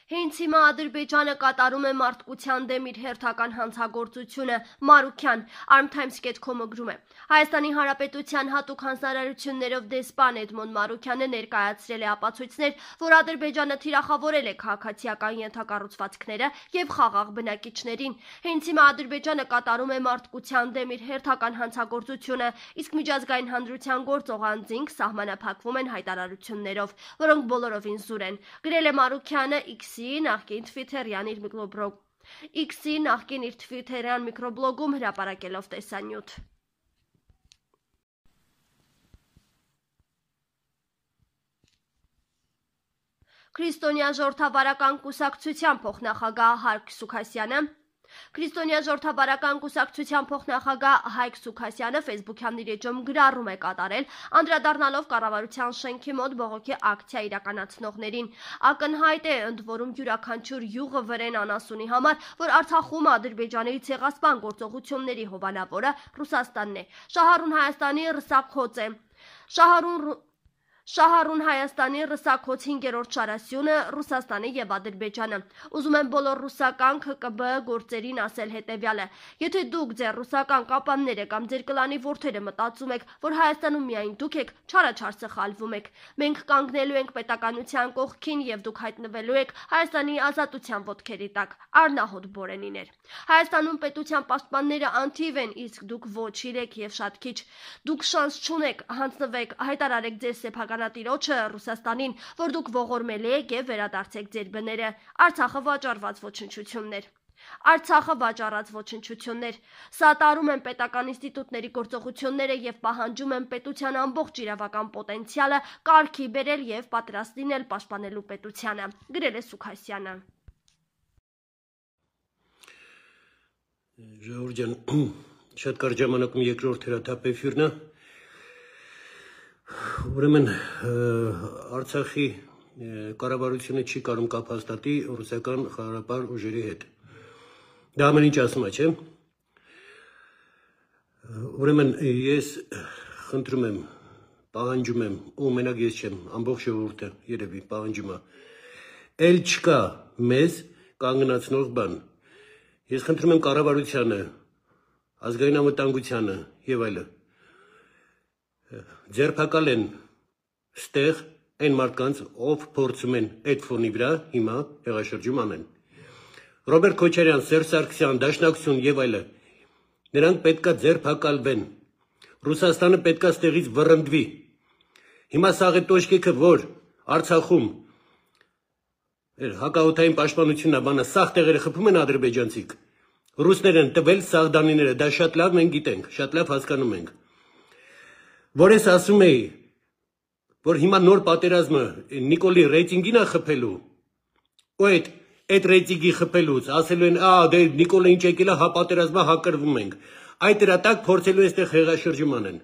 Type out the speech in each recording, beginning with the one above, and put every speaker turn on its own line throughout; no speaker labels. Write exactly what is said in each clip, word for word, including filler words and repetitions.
Հենց հիմա Ադրբեջանը կատարում է մարդկության դեմ իր հերթական հանցագործությունը, Մարուքյան, Arm Times dot com-ը գրում է։ Հայաստանի Հանրապետության հատուկ հանձնարարություններով դեսպան Էդմոն Մարուքյանը ներկայացրել է ապացույցներ, որ Ադրբեջանը թիրախավորել է քաղաքացիական ենթակառուցվածքները եւ խաղաղ բնակիչներին։ Հենց հիմա Ադրբեջանը կատարում է մարդկության դեմ իր հերթական հանցագործությունը, իսկ միջազգային հանրության գործող անձինք սահմանափակվում են հայտարարություններով, որոնք բոլորովին զուր են։ Գրել է Մարուքյանը X-ի նախկին Twitter-յան իր միկրոբլոգ X-ի նախկին իր Twitter-յան միկրոբլոգում հրապարակելով տեսանյութ։ Քրիստոնյա ժողովրդավարական կուսակցության փոխնախագահ Հայկ Սուքասյանը Քրիստոնյա ժողովրդավարական կուսակցության փոխնախագահ Հայկ Սուքասյանը Facebook-յան իր էջում գրառում է կատարել, անդրադառնալով կառավարության շենքի մոտ բողոքի ակցիա իրականացնողներին։ Ակնհայտ է, ընդ որում յուրաքանչյուր յուղը վրեն անասունի համար, որ Արցախում Ադրբեջանի ցեղասպան գործողությունների հովանավորը Ռուսաստանն է։ Շահառուն Հայաստանի ռսակոց է։ Շահառուն Շահառուն Հայաստանի ռսակոց հինգերորդ շարասյունը Ռուսաստանի եւ Ադրբեջանը։ Ուզում եմ բոլոր ռուսական K G B գործերին ասել հետեւյալը. եթե դուք ձեր ռուսական կապանները կամ ձեր կլանի որդերը մտածում եք, որ Հայաստանում միայն դուք եք, չարաչար սխալվում եք։ Մենք կանգնելու ենք պետականության կողքին եւ դուք հայտնվելու եք Հայաստանի ազատության ոտքերի տակ։ Արնահոտ Բորենիներ։ Հայաստանում պետության պաշտպանները անթիվ են, իսկ դուք ոչ իրեք եւ շատ քիչ։ Դուք շանս չունեք, հանձնվեք, հայտարարեք ձեր սեփական Տիրոջը Ռուսաստանին, որ դուք ողորմելի եք եւ վերադարձեք ձեր բները։ Արցախը վաճառված ոչնչություններ։ Արցախը վաճառած ոչնչություններ։ Սատարում են պետական ինստիտուտների գործողությունները եւ պահանջում են պետության ամբողջ իրավական պոտենցիալը կարգի բերել եւ պատրաստ լինել պաշտպանելու պետությանը, գրել է Սուքասյանը։
Ժողովուրդ ջան, շատ կարճ ժամանակում երկրորդ հրատապեֆիրն է։ Ուրեմն Արցախի կառավարությունը չի կարող կապ հաստատի ռուսական խաղաղապահ ուժերի հետ։ Դա ամեն ինչ ասում է, չէ՞։ Ուրեմն ես խնդրում եմ, պահանջում եմ, ու մենակ ես չեմ, ամբողջ ժողովուրդը երևի պահանջում է։ Էլ չկա մեզ կանգնացնող բան։ Ես խնդրում եմ կառավարությանը, ազգային անվտանգությանը եւ այլն ձերբակալ են ստեղ այն մարդկանց, ով փորձում են այդ ֆոնի վրա հիմա հեղաշրջում անեն։ Ռոբերտ Քոչարյան, Սերժ Սարգսյան, Դաշնակցություն եւ այլն, նրանք պետքա ձերբակալվեն։ Ռուսաստանը պետքա ստեղից վռնդվի։ Հիմա սաղ է տոշկեքը, որ Արցախում հակաօդային պաշտպանությունն է, բանը սաղ տեղերը խփում են ադրբեջանցիք։ Ռուսներ են տվել սաղդանիները, դա շատ լավ մենք գիտենք, շատ լավ հասկանում ենք։ Որ ես ասում էի, որ հիմա նոր պատերազմը Նիկոլի ռեյտինգին է խփելու, ու այդ այդ ռեյտինգի խփելուց ասելու են, ա, դե Նիկոլը ինչ եկել է, հա պատերազմա հակրվում ենք։ Այդ դրա տակ փորձելու է այստեղ հեղաշրջում անեն։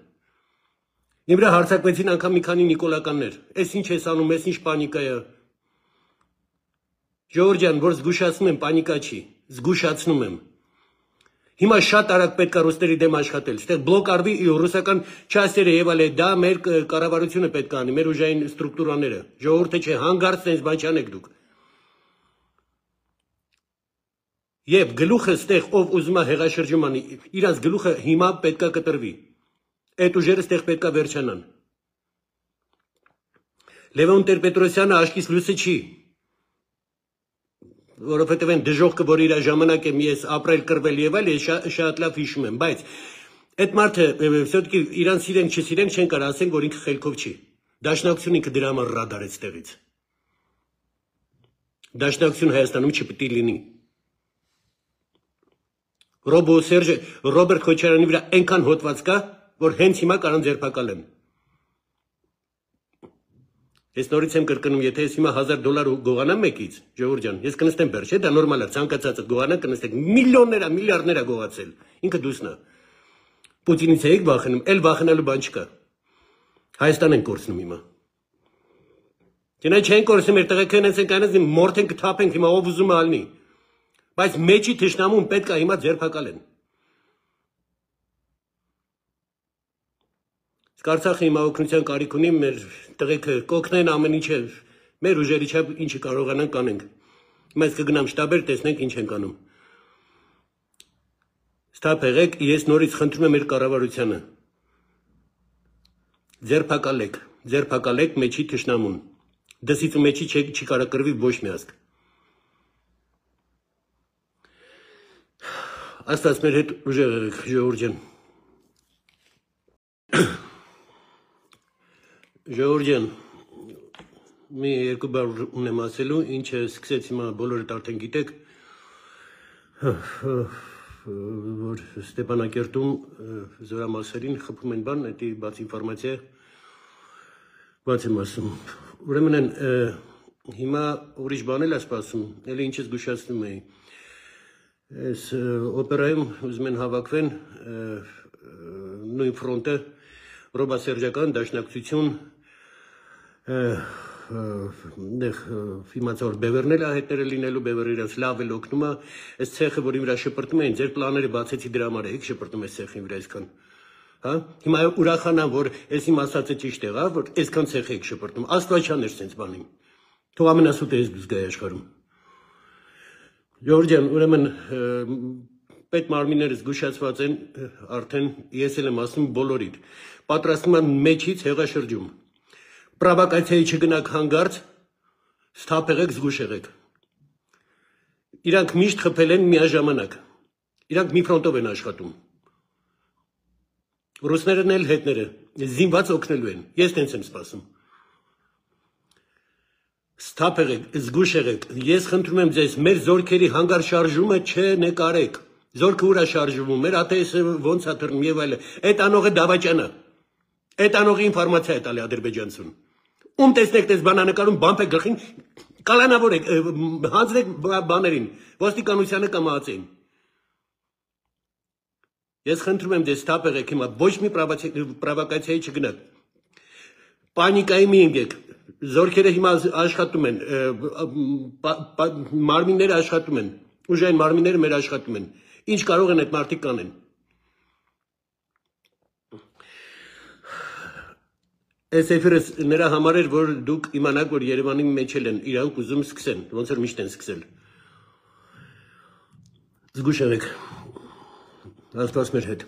Իմ վրա հարձակվեցին անգամ մի քանի նիկոլականներ։ Էս ինչ ես անում, էս ինչ պանիկա է։ Ժողովուրդ ջան, որ զգուշացնում եմ, պանիկա չի, զգուշացնում եմ։ Հիմա շատ արագ պետք է ռուսների դեմ աշխատել, ստեղ բլոկ արվի ռուսական չասերը եւ այլ, դա մեր կառավարությունը պետք է անի, մեր ուժային ստրուկտուրաները, ժողովուրդը չէ, հանգարց տենց բան չանեք դուք։ Եվ գլուխը ստեղ ով ուզում է հեղաշրջում անի, իրանց գլուխը հիմա պետք է կտրվի։ Այդ ուժերը ստեղ պետք է վերջանան։ Լևոն Տեր-Պետրոսյանը աշկից լույսը չի։ Որովհետև այն դժողքը, որ իր ժամանակ եմ ես ապրել, կռվել եւ այլ, ես շատ լավ հիշում եմ, բայց այդ մարդը все-таки իրան սիրենք, չսիրենք, չեն կարող ասենք, որ ինքը խելքով չի։ Դաշնակցությունը ինքը դրա համար ռադարեց տեղից։ Դաշնակցություն Հայաստանում չպետք է լինի։ Ռոբո Սերժը Ռոբերտ Քոչարյանի վրա այնքան հոտված կա, որ հենց հիմա կարան ձերբակալեն։ Ես նորից եմ կրկնում, եթե ես հիմա հազար դոլար գողանամ մեկից, ժողովուրդ ջան, ես կնստեմ բեր, չէ՞, դա նորմալ է, ցանկացածը գողանա, կնստեք, միլիոններ, միլիարդներ է գողացել։ Ինքը դուսն է։ Պուտինից եք վախենում, էլ վախենալու բան չկա։ Հայաստան են կորցնում հիմա։ Չնայ չեն կորցնում, մեր տղեկան են կանած մորթեն կթափենք հիմա ով ուզում է ալնի։ Բայց մեջի թշնամուն պետք է հիմա ձերբակալեն։ Արցախը հիմա օգնության կարիք ունի, մեր տղեկը կօգնեն ամեն ինչը, մեր ուժերի չափ ինչը կարողանանք անենք։ Հիմա ես կգնամ շտաբեր, տեսնենք ինչ ենք անում։ Ստապ եղեք, ես նորից խնդրում եմ մեր կառավարությանը։ Ձերբակալեք, ձերբակալեք մեջի թշնամուն։ Դսից ու մեջի չի կարա կրվի ոչ մի ազգ։ Աստված մեր հետ ուժեղ եղեք, ժողովուրդ ջան։ Ժողովուրդ ջան, մի երկու բառ ունեմ ասելու, ինչը սկսեց հիմա բոլորդ արդեն գիտեք, որ Ստեփանակերտում զորամասերին խփում են բան, դա բաց ինֆորմացիա բաց եմ ասում։ Ուրեմն են հիմա ուրիշ բան էլ է սպասում, էլի ինչ ես զգուշացնում էի։ Այս օպերայում ուզում են հավաքվեն նույն ֆրոնտը ռոբասերժական դաշնակցություն իմացա որ բևերնել է հետները լինելու բևերը իրենց լավ էլ օգնում է այս ցեխը որի վրա շպրտում էին ձեր պլանները բացեցի դրա համար եք շպրտում այս ցեխին վրա այսքան հա հիմա ուրախանամ որ այս իմ ասածը ճիշտ եղա որ այսքան ցեխ եք շպրտում աստվածչան էր sense բանին թող ամենասուտը ես զգայ աշխարհում Ժորժյան ուրեմն պետ մարմինները զգուշացված են արդեն ես էլ եմ ասում բոլորիդ պատրաստվում են մեջից հեղաշրջում պրովոկացիայի չգնաք հանգարց Ստապ եղեք զգուշ եղեք Իրանք միշտ խփել են միաժամանակ Իրանք մի ֆրոնտով են աշխատում Ռուսներն էլ հետները զինված օգնելու են ես տենց եմ սպասում Ստապ եղեք զգուշ եղեք ես խնդրում եմ ձեզ մեր զորքերի հանգար շարժումը չնկարեք Զորքը ուր է շարժվում մեր ԱՏՍ-ը ոնց է թռնում եւ այլն այդ անողը դավաճանը այդ անողի ինֆորմացիա է տալի ադրբեջանցուն Ում տեսնեք դες բանանկարում բամփ է գլխին կալանավոր եք հանձնեք բաներին ոստիկանությանը կամ ԱԱՑ-ին Ես խնդրում եմ դες Ստապ եղեք հիմա ոչ մի պրովոկացիայի չգնաք Պանիկայի մի ընկեք Զորքերը հիմա աշխատում են մարմինները աշխատում են ուժային մարմինները մեր աշխատում են Ինչ կարող են այդ մարդիկ կանեն Այս էֆիրս նրա համար էր, որ դուք իմանաք, որ Երևանի մեջ են իրանք ուզում սկսեն, ոնց որ միշտ են սկսել։ Զգուշ եղեք, Աստված մեր հետ։